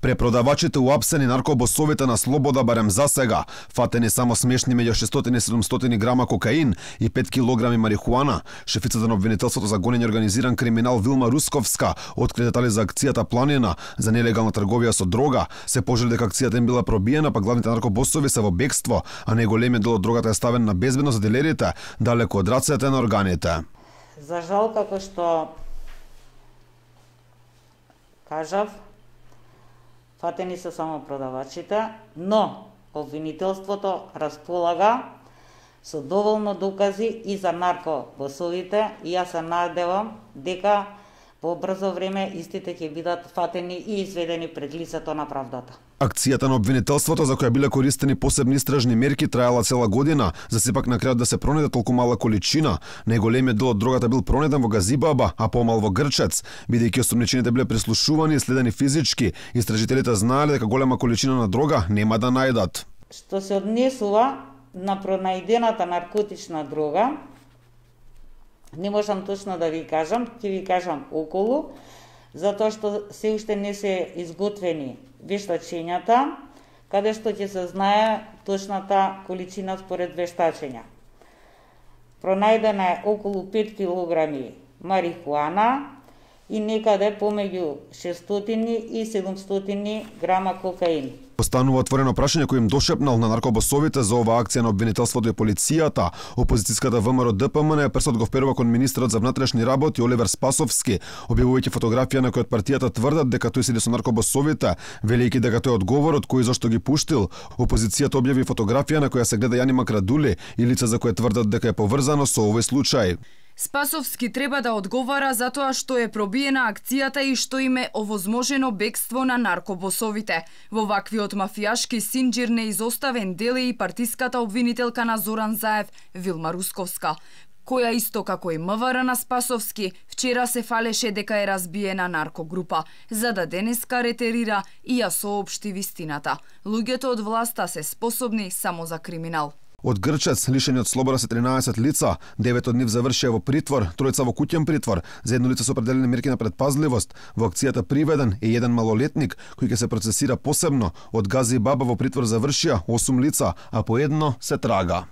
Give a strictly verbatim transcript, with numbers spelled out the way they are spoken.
Препродавачите уапсени наркобосовите на слобода барем за сега. Фатени само смешни меѓу шестстотини и седумстотини грама кокаин и пет килограми марихуана. Шефицата на обвинителството за гонење организиран криминал Вилма Русковска откри детали за акцијата Планина за нелегална трговија со дрога. Се пожели дека акцијата им била пробиена, па главните наркобосови се во бегство, а најголемиот дел од дрогата е ставен на безбедно за дилерите, далеку од рацете на органите. За жал, како што кажав, фатени се само продавачите, но обвинителството располага со доволно докази и за наркобосовите и јас се надевам дека во брзо време истите ќе бидат фатени и изведени пред лицето на правдата. Акцијата на обвинителството, за која биле користени посебни истражни мерки, траела цела година, за сепак на крајот да се пронеде толку мала количина. Најголемиот дел од дрогата бил пронеден во Газибаба, а помал во Грчец. Бидејќи осумничените биле прислушувани и следени физички, истражителите знаеле дека голема количина на дрога нема да најдат. Што се однесува на пронајдената наркотична дрога, не можам точно да ви кажам, ќе ви кажам околу, затоа што се уште не се изготвени вештачењата, каде што ќе се знае точната количина според вештачења. Пронајдена е околу пет килограми марихуана и некаде помеѓу шестстотини и седумстотини грама кокаин. Останува отворено прашање кој им дошепнал на наркобосовите за оваа акција на обвинителството и полицијата. Опозицијската ВМРО Д П М Н пресот го вперува кон министерот за внатрешни работи Оливер Спасовски, објавувајќи фотографија на која од партијата тврдат дека тој седи со наркобосовите, велејќи дека тој е одговорот кој зашто ги пуштил. Опозицијата објави фотографија на која се гледа Јани Макрадули и лице за кое тврдат дека е поврзано со овој случај. Спасовски треба да одговара за тоа што е пробиена акцијата и што им е овозможено бегство на наркобосовите. Во ваквиот мафијашки синџир неизоставен дел е и партиската обвинителка на Зоран Заев, Вилма Русковска, која исто како и М В Р на Спасовски, вчера се фалеше дека е разбиена наркогрупа, за да денеска ретерира и ја соопшти вистината. Луѓето од власта се способни само за криминал. Од Грчец лишени од слобода се тринаесет лица, девет од нив завршија во притвор, тројца во куќен притвор, за едно лице се определени мерки на предпазливост. Во акцијата приведен е еден малолетник кој ќе се процесира посебно. Од Газибаба во притвор завршија осум лица, а по едно се трага.